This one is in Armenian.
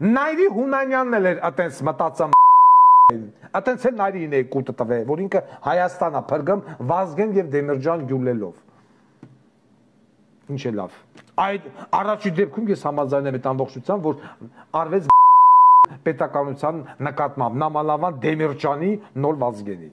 Նայրի Հունանյանն էլ էր այտենց մտածում այտենց էլ Նայրին է կուտը տվել, որ ինքը Հայաստան է փրկում Վազգեն եւ Դեմիրճան գյուլելով։ Ինչ է լավ։ Այդ առաջի դեպքում ես համաձայն եմ այդ ամբողջությամբ, որ արվեց պետականության նկատմամբ նամանավանդ Դեմիրճանի նոր Վազգենի։